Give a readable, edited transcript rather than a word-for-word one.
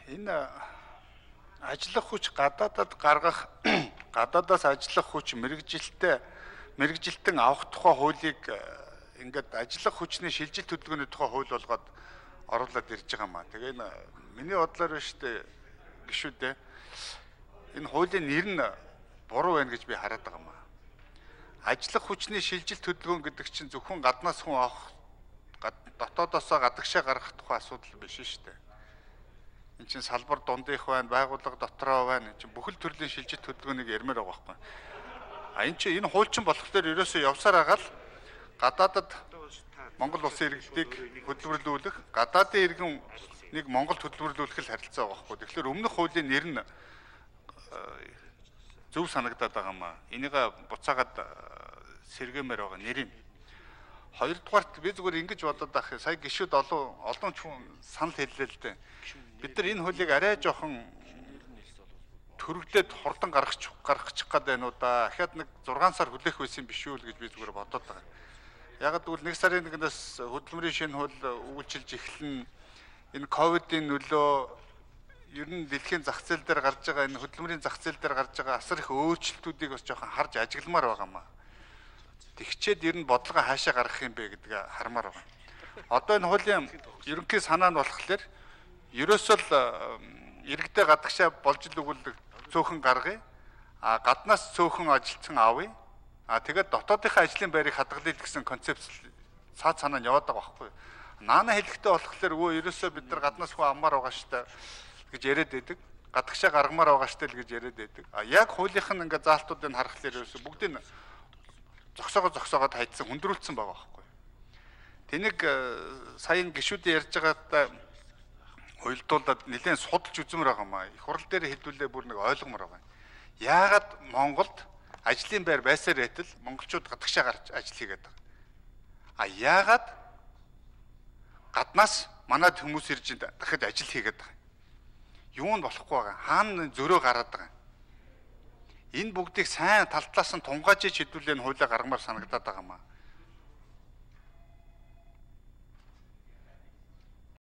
Энэ ажиллах хүч гадаадад гаргах гадаадаас ажиллах хүч мэрэгжилтэн авах тухай хуулийг ингээд ажиллах хүчний шилжилт хөдөлгөөний тухай хууль болгоод оруулаад ирж байгаа маа. Тэгээ энэ миний бодлоор биш үү гişүүдээ энэ хуулийн нэр нь буруу байна гэж би хараад байгаа маа. Ажиллах хүчний шилжилт хөдөлгөөн гэдэг чинь зөвхөн гаднаас хүн авах дотоодоосоо гадагшаа гаргах тухай асуудал биш шүү дээ. Энд чинь салбар дундих байна, байгууллага дотроо байна. Энд чинь бүхэл төрлийн шилжилт хөдөлгөөнийг ярмаар байгаа байхгүй. Энд чинь энэ хуульчин болохоор ерөөсөө явсаар агаал гадаадад Монгол улсын иргэдийг хөдөлмөрлүүлэх, гадаадын иргэн Монголд хөдөлмөрлүүлэх л харилцаа байгаа байхгүй. Тэгэхээр өмнөх хуулийн нэр нь зөв санагдаад байгаа маа. Энийг буцаагаад сэргээмээр байгаа нэр нь. Хоёрдугаарт би зүгээр ингэж бодоод байх. Сая гişүүд олон ч хүн санал хэллээ л дээ. Бид нар энэ хуулийг арай жоохон төрөгдөд хурдан гаргачих гээд байна уу да. Ахаад нэг 6 сар хүлээх байсан биш үү гэж би зүгээр бодоод байгаа. Яг гэвэл 1 сарын 1-ээс хөдөлмөрийн шинэ хууль үйлчилж эхэлнэ. Энэ ковидын нөлөө ер нь дэлхийн зах зээл дээр гарч байгаа энэ хөдөлмөрийн зах зээл дээр гарч байгаа асар их өөрчлөлтүүдийг бас жоохон харж ажигламар байгаа маа. Тэгчээд ер нь бодлого хаашаа гаргах юм бэ гэдгийг хармаар байгаа. Одоо энэ хуулийн ерөнхий санаа нь болохоор ерөөсөө л иргэдээ гадагшаа болж л өгүүлдэг цөөхөн гаргая. Гаднаас цөөхөн ажилтсан авъя. Тэгээд дотоодынхаа ажлын байрыг хадгалъя гэсэн концепц цаад санаа нь яваад байгаа байхгүй. Наана хэлэхдээ болохоор өө ерөөсөө бид нар гаднаас хүн аммаар байгаа штэ гэж яриад байдаг. Гадагшаа гаргамаар байгаа штэ л гэж яриад байдаг. Яг хуулийнх нь ингээ заалтуудыг харахаар ерөөсөө бүгдийг зогсоогоод хайдсан хүндрүүлсэн байгаа байхгүй. Тэнийг саяын гişүүдийн ярьж байгаадаа уйлдуулаад нэлээд судалж үзмээр байгаа маа. Их хурал дээр хэлдүүлээ бүр нэг ойлгомоор байгаа. Яагаад Монголд ажлын байр байсаар байтал монголчууд гадагшаа гарч ажил хийгээд байгаа. Яагаад гаднаас манад хүмүүс ирж дахиад ажил хийгээд байгаа. Юу нь болохгүй байгаа. Хаана зөрөө гараад байгаа. Энэ бүгдийг сайн тал талаас нь тунгаажиж хэдүүлээ хуулиа гаргамаар санагдаад байгаа маа.